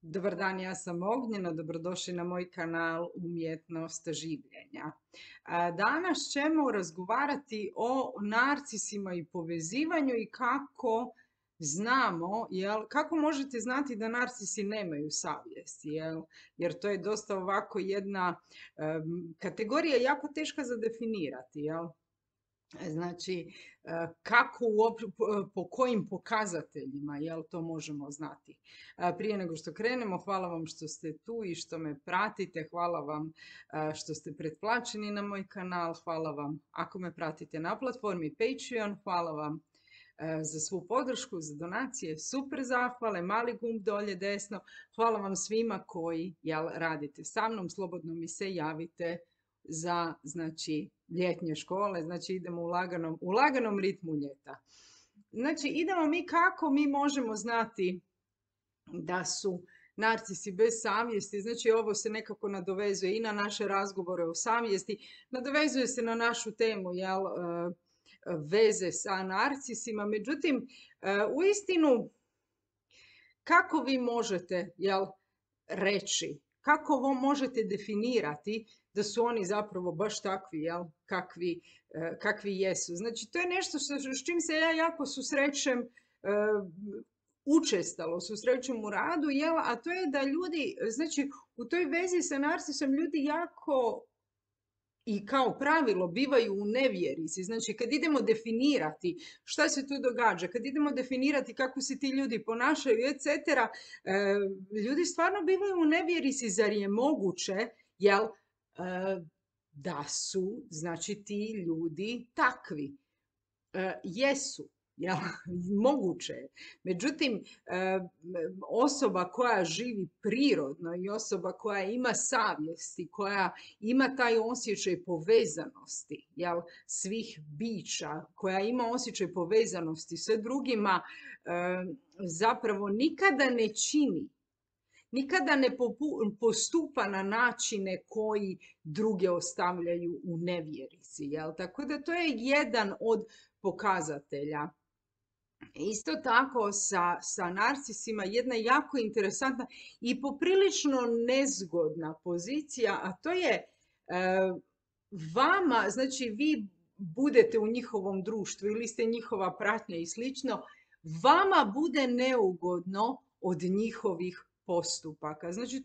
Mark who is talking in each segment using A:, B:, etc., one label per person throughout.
A: Dobar dan, ja sam Ognjena, dobrodošli na moj kanal Umjetnost življenja. Danas ćemo razgovarati o narcisima i povezivanju i kako znamo, kako možete znati da narcisi nemaju savjest, jer to je dosta ovako jedna kategorija jako teška za definirati, Znači, kako po kojim pokazateljima to možemo znati. Prije nego što krenemo, hvala vam što ste tu i što me pratite, hvala vam što ste pretplaćeni na moj kanal, hvala vam ako me pratite na platformi Patreon, hvala vam za svu podršku, za donacije, super zahvale, mali gumb dolje desno, hvala vam svima koji radite sa mnom, slobodno mi se javite za ljetnje škole, idemo u laganom ritmu ljeta. Idemo mi kako mi možemo znati da su narcisi bez savjesti, ovo se nekako nadovezuje i na naše razgovore o savjesti, nadovezuje se na našu temu, veze sa narcisima, međutim, uistinu, kako vi možete, reći, kako možete definirati da su oni zapravo baš takvi, kakvi jesu. Znači, to je nešto s čim se ja jako susrećem, učestalo susrećem u radu, a to je da ljudi, u toj vezi sa narcisom ljudi jako i kao pravilo bivaju u nevjerici. Znači, kad idemo definirati šta se tu događa, kad idemo definirati kako se ti ljudi ponašaju, etc., ljudi stvarno bivaju u nevjerici, zar je moguće, da su, ti ljudi takvi. Jesu, moguće je. Međutim, osoba koja živi prirodno i osoba koja ima savjesti, koja ima taj osjećaj povezanosti, svih bića, koja ima osjećaj povezanosti sa drugima, zapravo nikada ne čini, nikada ne postupa na načine koji druge ostavljaju u nevjerici. Tako da to je jedan od pokazatelja. Isto tako sa narcisima jedna jako interesantna i poprilično nezgodna pozicija, a to je vama, vi budete u njihovom društvu ili ste njihova pratnja i slično, vama bude neugodno od njihovih postupaka. Znači,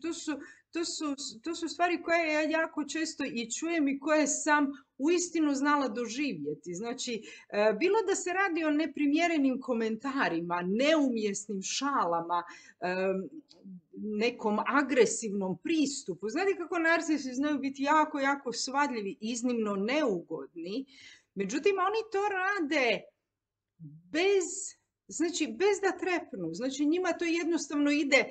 A: to su stvari koje ja jako često i čujem i koje sam uistinu znala doživjeti. Znači, bilo da se radi o neprimjerenim komentarima, neumjesnim šalama, nekom agresivnom pristupu. Znate kako narcisi znaju biti jako, jako svadljivi, iznimno neugodni. Međutim, oni to rade bez da trepnu. Znači, njima to jednostavno ide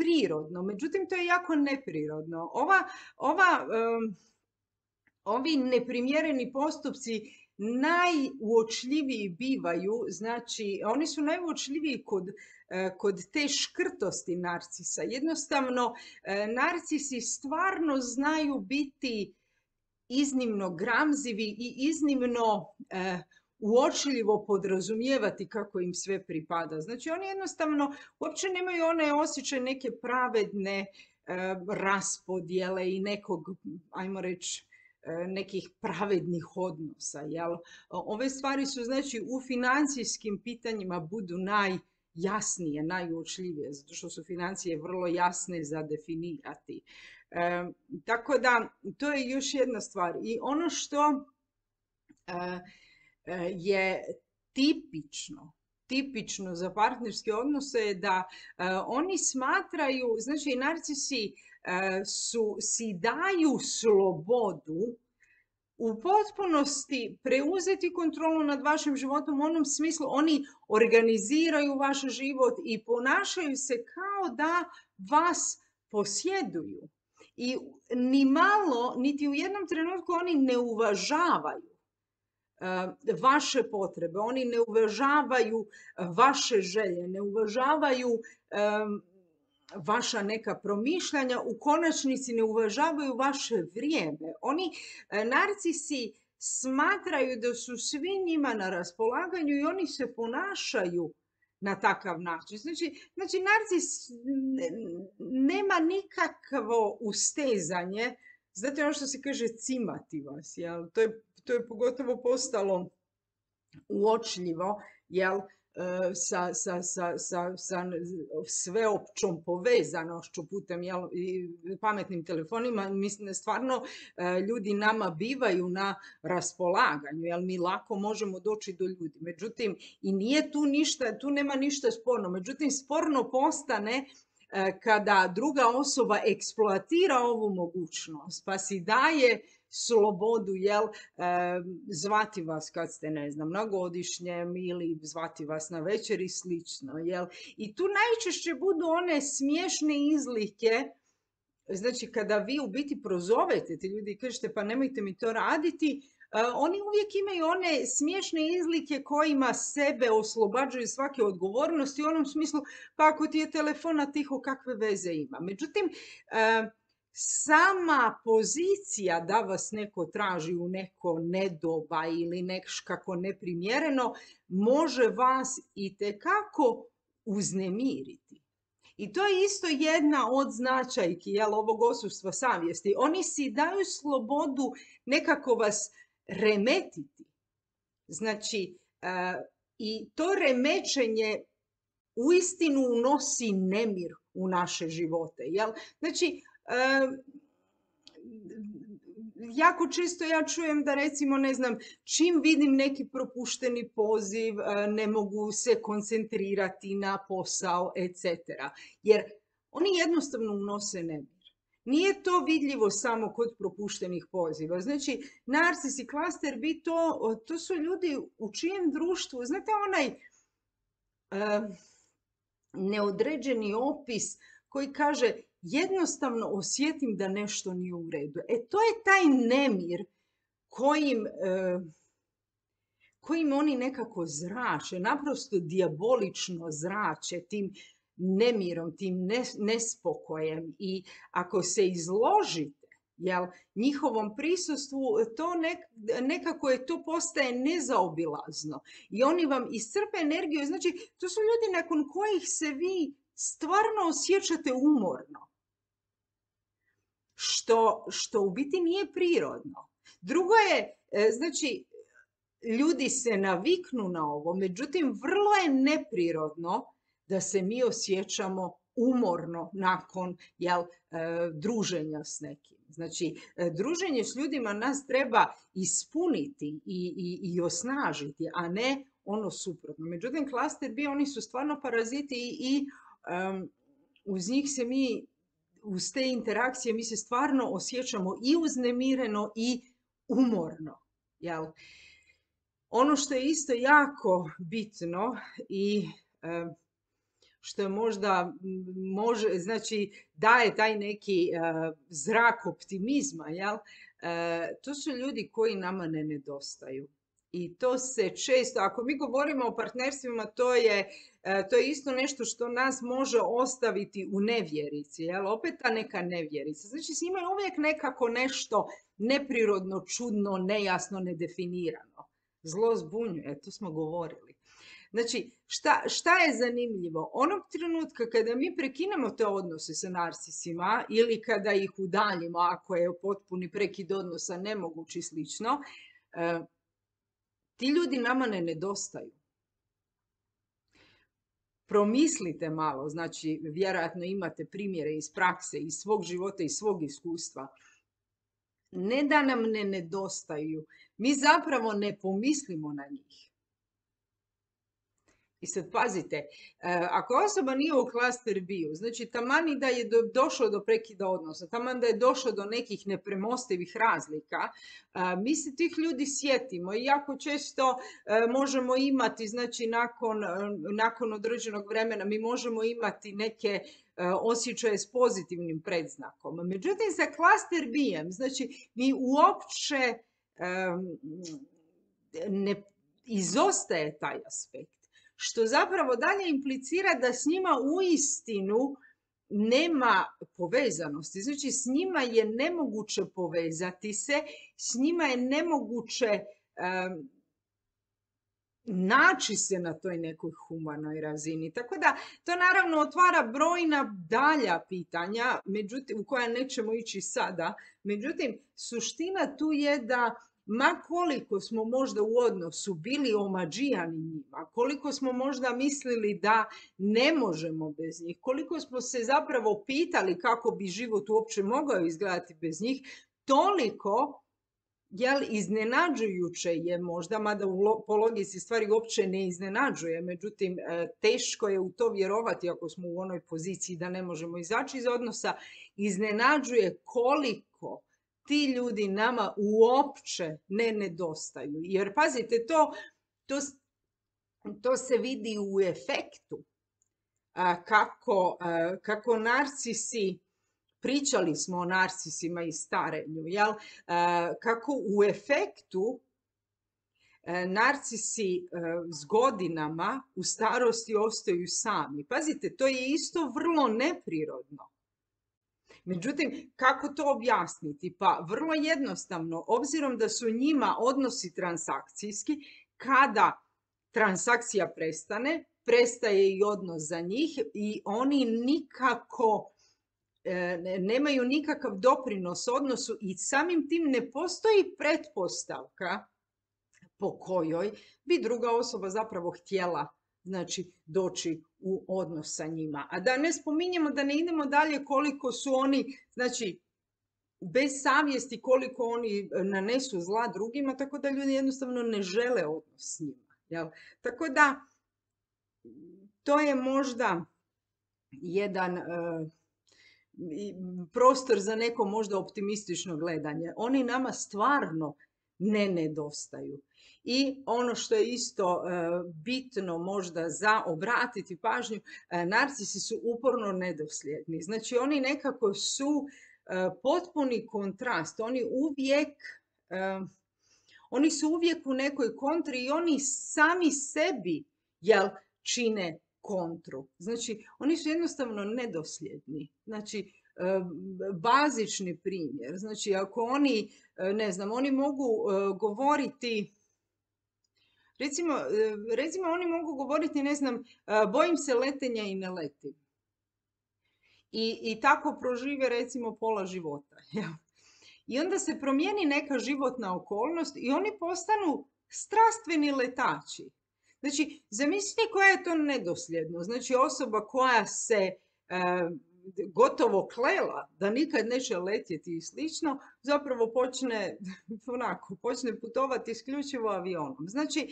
A: prirodno, međutim to je jako neprirodno. Ovi neprimjereni postupci najuočljiviji bivaju, znači oni su najuočljiviji kod te škrtosti narcisa. Jednostavno, narcisi stvarno znaju biti iznimno gramzivi i iznimno uočljivo podrazumijevati kako im sve pripada. Znači, oni jednostavno uopće nemaju onaj osjećaj neke pravedne raspodjele i nekog, ajmo reći, nekih pravednih odnosa. Ove stvari su, znači, u financijskim pitanjima budu najjasnije, najuočljivije, zato što su financije vrlo jasne za definirati. Tako da, to je još jedna stvar. I ono što je tipično za partnerske odnose je da oni smatraju, znači narcisi si daju slobodu u potpunosti preuzeti kontrolu nad vašim životom, u onom smislu oni organiziraju vaš život i ponašaju se kao da vas posjeduju. I ni malo, niti u jednom trenutku oni ne uvažavaju vaše potrebe, oni ne uvažavaju vaše želje, ne uvažavaju vaša neka promišljanja, u konačnici ne uvažavaju vaše vrijeme. Oni, narcisi, smatraju da su svi njima na raspolaganju i oni se ponašaju na takav način. Znači narcis nema nikakvo ustezanje, znate ono što se kaže cimati vas, jel? To je pogotovo postalo uočljivo, jel? Sa sveopćom povezanošću putem pametnim telefonima. Mislim da stvarno ljudi nama bivaju na raspolaganju, jer mi lako možemo doći do ljudi. Međutim, i nije tu ništa, tu nema ništa sporno. Međutim, sporno postane kada druga osoba eksploatira ovu mogućnost, pa si daje slobodu, zvati vas kad ste, ne znam, na godišnjem ili zvati vas na večer i slično, I tu najčešće budu one smiješne izlike, znači kada vi u biti prozovete ti ljudi i kažete pa nemojte mi to raditi, oni uvijek imaju one smiješne izlike kojima sebe oslobađaju svake odgovornosti u onom smislu pa ako ti je telefona tiho kakve veze ima. Međutim, sama pozicija da vas neko traži u neko nedoba ili nekako neprimjereno može vas itekako uznemiriti. I to je isto jedna od značajki ovog odsustva savjesti. Oni si daju slobodu nekako vas remetiti. Znači, i to remećenje uistinu unosi nemir u naše živote. Znači, jako često ja čujem da recimo, ne znam, čim vidim neki propušteni poziv, ne mogu se koncentrirati na posao, etc. Jer oni jednostavno unose nemir. Nije to vidljivo samo kod propuštenih poziva. Znači, narcis i klaster B, to su ljudi u čijem društvu, znate onaj neodređeni opis koji kaže jednostavno osjetim da nešto nije u redu. To je taj nemir kojim oni nekako zrače, naprosto dijabolično zrače tim nemirom, tim nespokojem. I ako se izložite njihovom prisustvu, to nekako to postaje nezaobilazno. I oni vam iscrpe energiju. Znači, to su ljudi nakon kojih se vi stvarno osjećate umorno. Što u biti nije prirodno. Drugo je, znači, ljudi se naviknu na ovo, međutim, vrlo je neprirodno da se mi osjećamo umorno nakon druženja s nekim. Znači, druženje s ljudima nas treba ispuniti i osnažiti, a ne ono suprotno. Međutim, klaster B, oni su stvarno paraziti i uz njih se mi, uz te interakcije, mi se stvarno osjećamo i uznemireno i umorno. Ono što je isto jako bitno i što je možda znači daje taj neki zrak optimizma, to su ljudi koji nama ne nedostaju. I to se često, ako mi govorimo o partnerstvima, to je isto nešto što nas može ostaviti u nevjerici, opet ta neka nevjerica. Znači s njima je uvijek nekako nešto neprirodno, čudno, nejasno, nedefinirano. Zlo zbunjuje, to smo govorili. Znači, šta je zanimljivo? Onog trenutka kada mi prekinemo te odnose sa narcisima ili kada ih udaljimo, ako je potpuni prekid odnosa nemoguć i slično, ti ljudi nama ne nedostaju. Promislite malo, znači vjerojatno imate primjere iz prakse, iz svog života, iz svog iskustva. Ne da nam ne nedostaju, mi zapravo ne pomislimo na njih. I sad pazite, ako osoba nije u klaster B-u, znači taman i da je došlo do prekida odnosa, taman da je došlo do nekih nepremostivih razlika, mi se tih ljudi sjetimo i jako često možemo imati, znači nakon određenog vremena, mi možemo imati neke osjećaje s pozitivnim predznakom. Međutim, sa klaster B-em, znači mi uopće ne izostaje taj aspekt. Što zapravo dalje implicira da s njima uistinu nema povezanosti. Znači, s njima je nemoguće povezati se, s njima je nemoguće naći se na toj nekoj humanoj razini. Tako da to naravno otvara brojna dalja pitanja, međutim, u koja nećemo ići sada. Međutim, suština tu je da ma koliko smo možda u odnosu bili omađijani njima, koliko smo možda mislili da ne možemo bez njih, koliko smo se zapravo pitali kako bi život uopće mogao izgledati bez njih, toliko iznenađujuće je možda, mada po logici stvari uopće ne iznenađuje, međutim teško je u to vjerovati ako smo u onoj poziciji da ne možemo izaći iz odnosa, iznenađuje koliko ti ljudi nama uopće ne nedostaju. Jer pazite, to se vidi u efektu kako narcisi, pričali smo o narcisima i starenju, kako u efektu narcisi s godinama u starosti ostaju sami. Pazite, to je isto vrlo neprirodno. Međutim, kako to objasniti? Pa vrlo jednostavno, obzirom da su njima odnosi transakcijski, kada transakcija prestane, prestaje i odnos za njih i oni nikako nemaju nikakav doprinos odnosu i samim tim ne postoji pretpostavka po kojoj bi druga osoba zapravo htjela, znači, doći u odnos sa njima. A da ne spominjemo, da ne idemo dalje koliko su oni, znači, bez savjesti, koliko oni nanesu zla drugima, tako da ljudi jednostavno ne žele odnos s njima. Jel? Tako da, to je možda jedan prostor za neko možda optimistično gledanje. Oni nama stvarno ne nedostaju. I ono što je isto bitno možda za obratiti pažnju, narcisi su uporno nedosljedni. Znači oni nekako su potpuni kontrast. Oni su uvijek u nekoj kontri i oni sami sebi čine kontru. Znači, oni su jednostavno nedosljedni. Znači, bazični primjer. Znači, ako oni, ne znam, oni mogu govoriti, recimo oni mogu govoriti, ne znam, bojim se letenja i ne letim. I tako prožive, recimo, pola života. I onda se promijeni neka životna okolnost i oni postanu strastveni letači. Znači, zamislite koja je to nedosljednost. Znači, osoba koja se gotovo klela da nikad neće letjeti i slično, zapravo počne putovati isključivo avionom. Znači,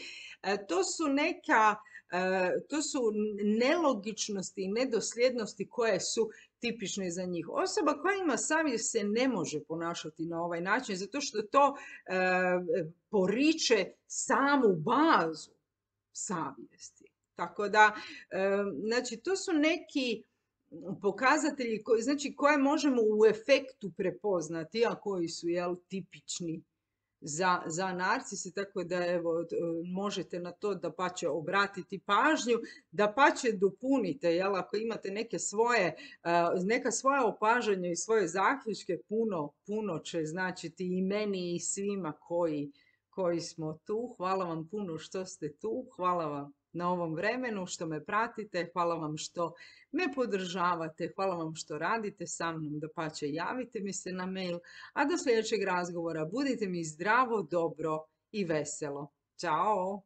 A: to su nelogičnosti i nedosljednosti koje su tipične za njih. Osoba koja ima savjest se ne može ponašati na ovaj način, zato što to poriče samu bazu savjesti. Tako da, znači, to su neki pokazatelji koje možemo u efektu prepoznati, a koji su tipični za narcise, tako da evo, možete na to dapače obratiti pažnju, dapače dopunite, ako imate neka svoja opažanja i svoje zaključke, puno će značiti i meni i svima koji smo tu. Hvala vam puno što ste tu, hvala vam na ovom vremenu, što me pratite, hvala vam što me podržavate, hvala vam što radite sa mnom, dapače javite mi se na mail, a do sljedećeg razgovora budite mi zdravo, dobro i veselo. Ćao!